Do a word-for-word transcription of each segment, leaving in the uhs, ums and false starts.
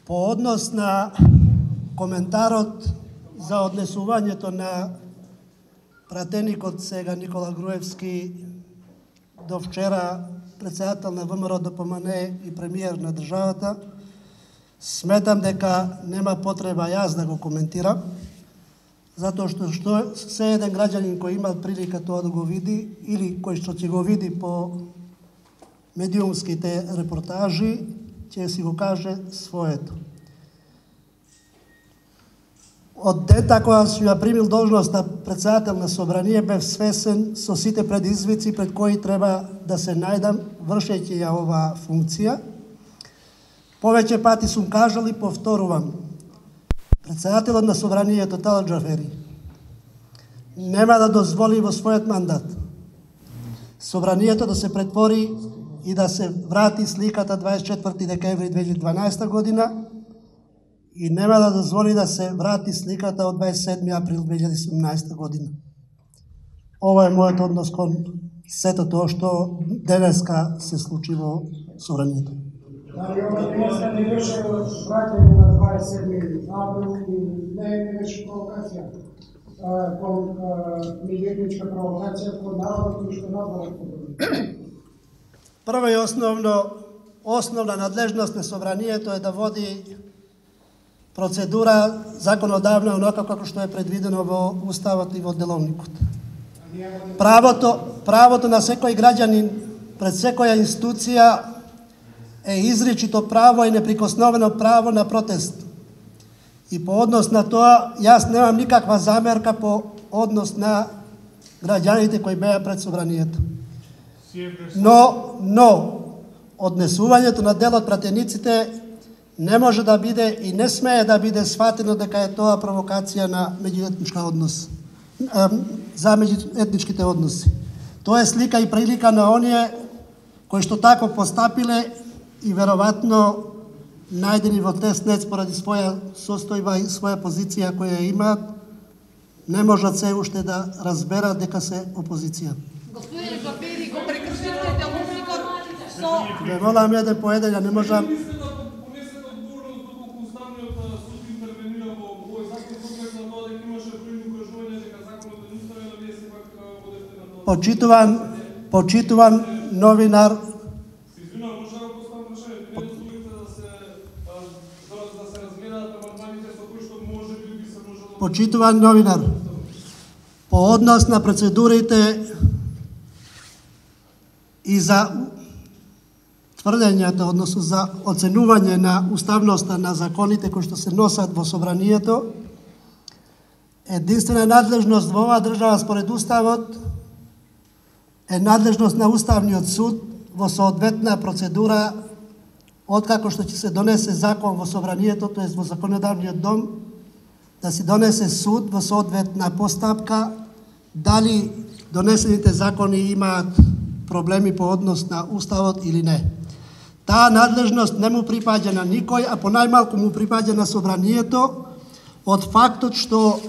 По однос на коментарот за однесувањето на пратеникот сега Никола Груевски до вчера председател на ВМРО ДПМН и премиер на државата, сметам дека нема потреба јас да го коментирам, затоа што, што се еден граѓанин кој има прилика тоа да го види или кој што ќе го види по медиумските репортажи, ќе си го каже своето. Од дета кога сум ја примил должност на председател на собрание, бев свесен со сите предизвици пред кои треба да се најдам вршејќи ја оваа функција. Повеќе пати сум кажал и повторувам. Председателот на собранието Талат Џафери нема да дозволи во својот мандат собранието да се претвори и да се врати сликата дваесет и четврти декември две илјади и дванаесета година и нема да дозволи да се врати сликата од дваесет и седми април две илјади и седумнаесета година. Ова е мојот однос кон сето тоа што денеска се случи во собранието. Дали ова денеска не беше враќање на дваесет и седми април и не беше провокација кон меѓуетничка провокација кон народот кој што надвора? Прво и основно, основна надлежност на собранието е да води процедура законодавна онока како што е предвидено во Уставот и во Деловникот. Правото, правото на секој граѓанин пред секоја институција е изричито право и неприкосновено право на протест. И по однос на тоа, јас немам никаква замерка по однос на граѓаните кои беа пред собранието. Но, но, однесувањето на дел од пратениците не може да биде и не смее да биде сватено дека е тоа провокација на меѓуетничка однос, за меѓуетничките односи. Тоа е слика и прилика на оние кои што тако постапиле и веројатно најдени во теснец поради своја состојба и своја позиција која имаат, не можат се уште да разберат дека се опозиција. Господине Џафери, го прекршивте Деловникот со... Ве молам еден по еден, ја не можам... Почитуван, почитуван новинар, почитуван новинар, по однос на процедурите и за тврдењата, односно за оценување на уставноста на законите кои што се носат во собранието, единствена надлежност во оваа држава според Уставот е надлежност на Уставниот суд во соодветна процедура откако што ќе се донесе закон во собранието, тоест во законодавниот дом, да се донесе суд во соодветна постапка дали донесените закони имаат проблеми по однос на Уставот или не. Таа надлежност не му припаѓа на никој, а по најмалку му припаѓа на собранието од фактот што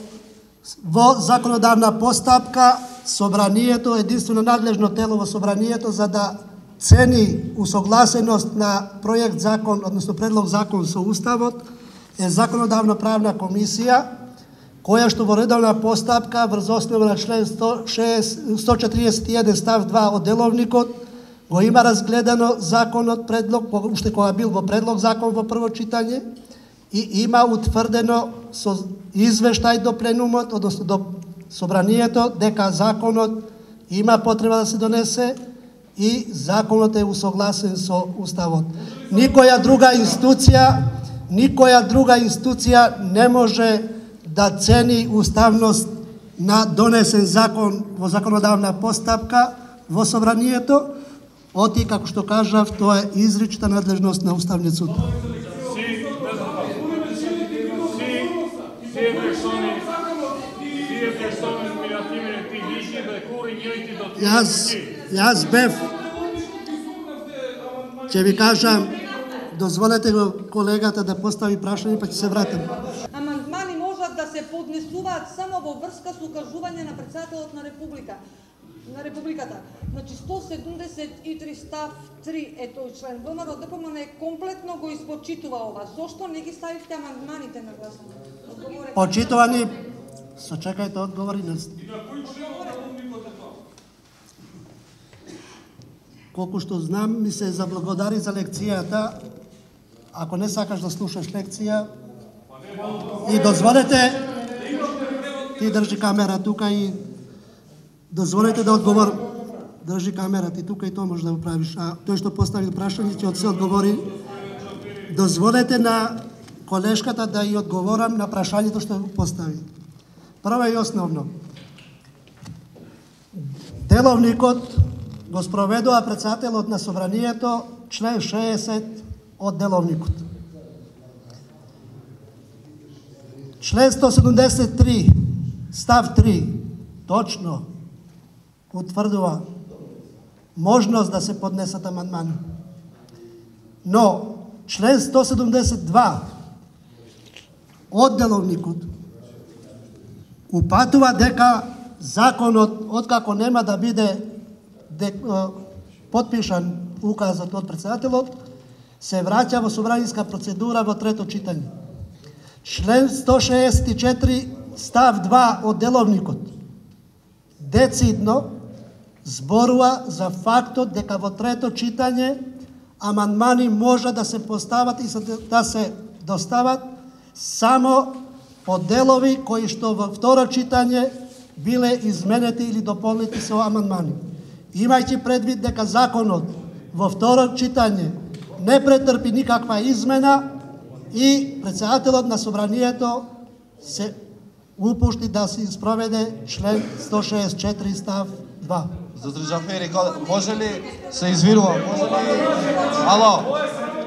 во законодавна постапка собранието е единствено надлежно тело во собранието за да цени усогласеност на проект закон, односно предлог закон со Уставот, е законодавна правна комисија, која што во редовна постапка врз основа на член сто четиридесет и еден став два од Деловникот го има разгледано законот предлог, уште кога бил во предлог закон во прво читање и има утврдено со извештај до пленумот, односно до собранието, дека законот има потреба да се донесе и законот е усогласен со Уставот. Никоја друга институција, никоја друга институција не може да цени уставност на донесен закон во законодавна постапка во собранието, оти, како што кажав, тоа е изрична надлежност на Уставниот суд. Јас, јас бев, ќе ви кажам, дозволете го колегата да постави прашање, па ќе се вратам. Амандмани можат да се поднесуваат само во врска со укажување на председателот на Република. на Републиката. Значи сто седумдесет и три став три е тој член. ВМРО Д П М Н комплетно го испочитува ова. Зошто не ги ставивте амандманите на гласање? Почитувани, сочекајте одговори. Колку што знам, ми се заблагодари за лекцијата. Ако не сакаш да слушаш лекција, и дозволете, ти држи камера тука и дозволете да одговорам. Држи камера ти тука и тоа може да го правиш. А тој што постави прашање ќе од се одговори. Дозволете на колешката да ја одговорам на прашањето што го постави. Прво и основно. Деловникот го спроведува претседателот на собранието, член шеесет од деловникот. Член сто седумдесет и три, став три, точно утврдува можност да се поднесат амандмани. Но член сто седумдесет и два од деловникот упатува дека законот, откако нема да биде подпишан указот од претседателот, се враќа во собраниска процедура во трето читање. Член сто шеесет и четири став два од деловникот децидно зборува за фактот дека во трето читање амандмани може да се постават и да се достават само по делови кои што во второ читање биле изменети или дополнети со амандмани. Имајќи предвид дека законот во второ читање не претрпи никаква измена и претседателот на собранието се упушти да се спроведе член сто шеесет и четири став два. Доктор Џафери, може ли се извинувам? Може ли Ало?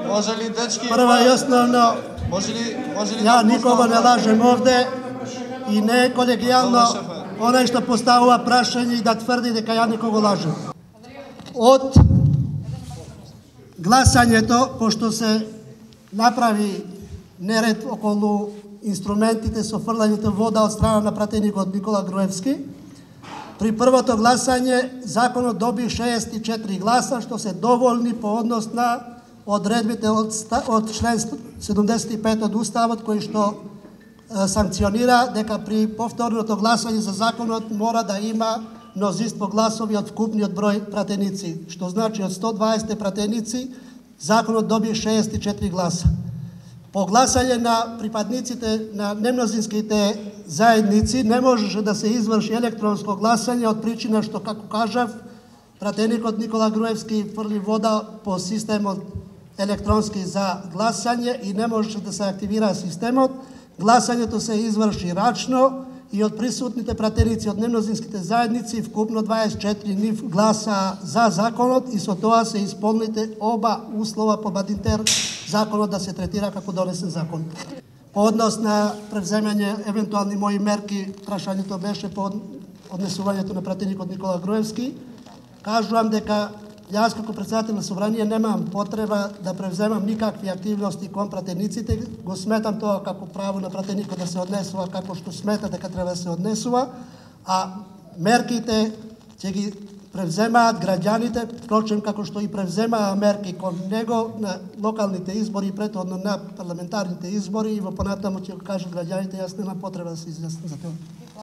Може ли дечки? Прво и основно, може ли може ли ја никого не лажем овде и не е колегијално онај што поставува прашање и да тврди дека ја никого лажем. Од гласањето, пошто се направи неред околу инструментите со фрлањето вода од страна на пратеникот Никола Груевски, при првото гласање законот доби шеесет и четири гласа, што се доволни по однос на одредбите од, од член седумдесет и пет од Уставот, кој што е, санкционира дека при повторното гласање за законот мора да има мнозинство гласови од вкупниот број пратеници, што значи од сто дваесет пратеници законот доби шеесет и четири гласа. По гласање на припадниците на немнозинските заедници не можеше да се изврши електронско гласање од причина што, како кажав, пратеникот Никола Груевски фрли вода по системот електронски за гласање и не можеше да се активира системот. Гласањето се изврши рачно и од присутните пратеници од немнозинските заедници вкупно дваесет и четири нив гласа за законот и со тоа се исполните оба услова по Бадинтер законот да се третира како донесен закон. По однос на превземање евентуални мои мерки, прашањето беше по однесувањето на пратеникот Никола Груевски. Кажувам дека јас како претседател на собрание немам потреба да превземам никакви активности кон пратениците. Го сметам тоа како право на пратеникот да се однесува како што смета дека треба да се однесува, а мерките ќе ги превземаат граѓаните, впрочем како што и превземаа мерки кон него на локалните избори, претходно на парламентарните избори и во понатаму ќе го кажат граѓаните, јас немам потреба да се изјаснам за тоа.